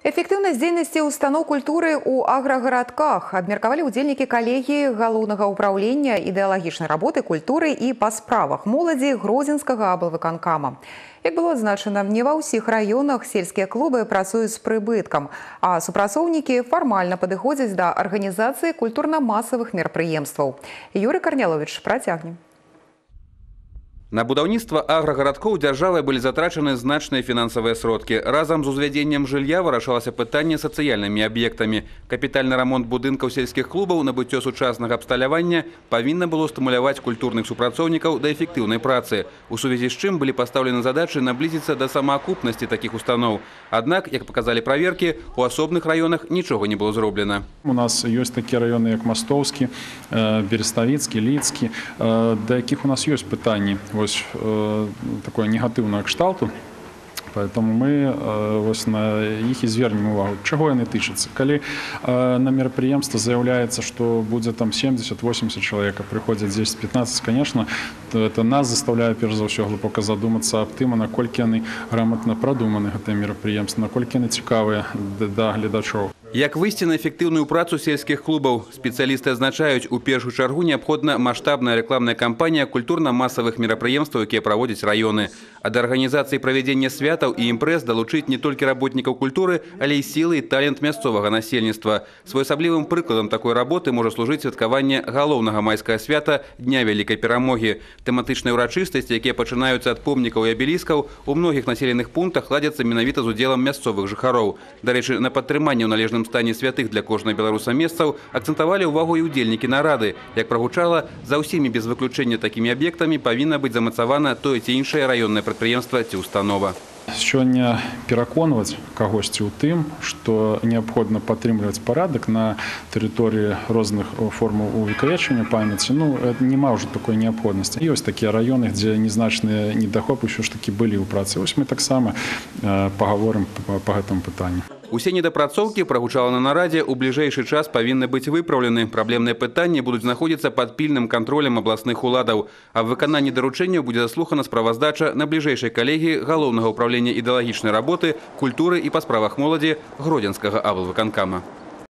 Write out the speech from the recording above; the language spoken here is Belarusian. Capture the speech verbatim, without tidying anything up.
Эфектыўнасць дзейнасці устаноў культуры ў аграгарадках абмеркавалі ўдзельнікі калегіі галоўнага ўпраўлення ідэалагічнай работы, культуры і па справах моладзі Гродзенскага аблвыканкама. Як было адзначана, не ва ўсіх раёнах сельскія клубы працуюць з прыбыткам, а супрацоўнікі фармальна падыходзяць да арганізацыі культурна-масавых мерапрыемстваў. Юрый Карнялович працягне. На будаўніцтва аграгарадкоў дзяржавай былі затрачаны значныя фінансавыя сродкі. Разам з узвядзеннем жылля вырашалася пытанне сацыяльнымі аб'ектамі. Капітальны рамонт будынкаў сельскіх клубаў, набыццё сучаснага абсталявання павінна было стымуляваць культурных супрацоўнікаў да эфектыўнай працы. У сувязі з чым былі пастаўлены задачы наблізіцца да самаакупнасці такіх устаноў. Аднак, як паказалі праверкі, у асобных раёнах нічога не было зроблена. У нас ёсць такія раёны, як Мастоўскі, Береставіцкі, Лідскі, да якіх у нас ёсць пытанні. Вось э, такое негатыўнае кшталту. Поэтому мы э, вось на іх і звернем увагу. Чаго яны тычацца? Калі э, на мерапрыемства заяўляецца, што будзе там семьдесят-восемьдесят чалавек, прыходзяць десять-пятнадцать, конечно, то это нас заставляе перш за ўсё глыбока задумацца аб тым, наколькі яны грамотна прадуманы гэтыя мерапрыемствы, наколькі яны цікавыя да гледачоў. Як выйсці на эфектыўную працу сельскіх клубаў? Спецыялісты адзначаюць, у першую чаргу неабходна маштабная рэкламная кампанія культурна-масавых мерапрыемстваў, якія праводзяць раёны. Ад арганізацыі правядзення святаў і імпрэз далучыць не толькі работнікаў культуры, але і сілы і талент мясцовага насельніцтва. Своеасаблівым прыкладам такой работы можа служыць святкаванне галоўнага майскага свята Дня Вялікай Перамогі. Тэматычныя ўрачыстасці, якія пачынаюцца ад помнікаў і абеліскаў, у многіх населеных пунктах ладзяцца менавіта з удзелам мясцовых жыхароў. Дарэчы, на падтрыманне ў належным стане святых для кожнага беларуса месцаў акцэнтавалі ўвагу і ўдзельнікі нарады. Як прагучала, за ўсімі без выключэння такімі аб'ектамі павінна быць замацавана тое ці іншае раённае прадпрыемства ці установа. Сёння пераконваць кагосьці ў тым, што неабходна падтрымліваць парадак на тэрыторыі розных формаў увекавечвання памяці, ну, няма ўжо такой неабходнасці. Ёсць такія раёны, дзе незначныя недахопы ўсё ж такі былі ў працы. Вось мы таксама пагаворым па гэтаму пытанню. Усе недапрацоўкі, прагучала на нарадзе, у бліжэйшы час павінны быць выпраўлены. Праблемныя пытанні будуць знаходзіцца пад пільным кантролем абласных уладаў. А в выкананні даручэнняў будзе заслухана справаздача на бліжэйшай калегіі галоўнага ўпраўлення ідэалагічнай работы, культуры і па справах моладзі Гродзенскага аблвыканкама.